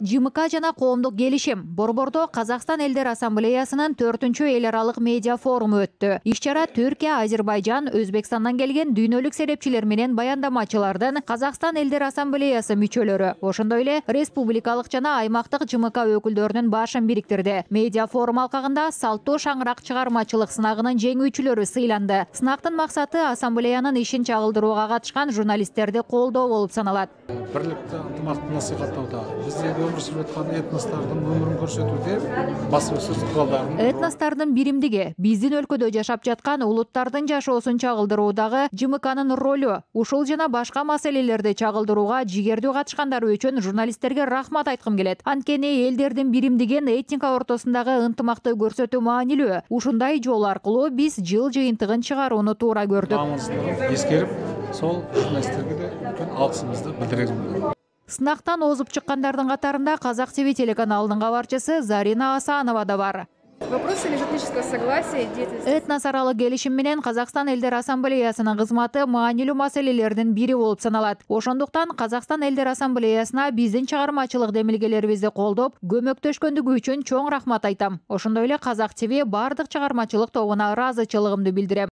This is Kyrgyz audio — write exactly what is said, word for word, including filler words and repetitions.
ЖМК жана коомдук келишим борбордо Казакстан элдер ассамблеясынын төртүнчү эл аралык медиа форуму өттү. Иш-чара Түркия, Азербайжан, Өзбекстандан келген дүйнөлүк серепчилер менен баяндамачылардын Казакстан элдер ассамблеясы мүчөлөрү, ошондой эле республикалык жана аймактык ЖМК өкүлдөрүнүн башын бириктирди. Медиа форум алкагында Салттуу шаңырак чыгармачылык сынагынын жеңүүчүлөрү сыйланды. Сынактын максаты ассамблеянын ишин чагылдырууга катышкан журналисттерди колдоо болуп саналат. Бирликте ынтымакты насихаттоодо, биздеги өмүр сүрүп аткан этностордун өмүрүн көрсөтүүдө басуу куралдарын этностордун биримдиги, биздин өлкөдө жашап жаткан улуттардын жашоосун чагылдыруудагы ЖМКнын ролу, ушул жана башка маселелерди чагылдырууга жигердүү катышкандары үчүн журналисттерге рахмат айткым келет. Анткени элдердин биримдигин этника ортосундагы ынтымакты көрсөтүү маанилүү. Ушундай жол аркылуу биз жыл жыйынтыгын чыгарууну туура көрдүк. Маңыздылыгын эскерип, сол журналисттерге да үлкен алкысымызды билдиребиз. Сынактан озуп чыккандардын катарында Казак ТВ телеканалынын кабарчысы Зарина Асанова да бар. Вопросы межэтнического согласия, деятельности. Этнос аралык келишим менен Казакстан элдер ассамблеясынын кызматы маанилүү маселелердин бири болуп саналат. Ошондуктан Казакстан элдер ассамблеясына биздин чыгармачылык демилгелерибизди колдоп, көмөктөшкөндүгү үчүн чоң рахмат айтам. Ошондой эле Казак ТВ бардык чыгармачылык тобуна ыраазычылыгымды билдирем.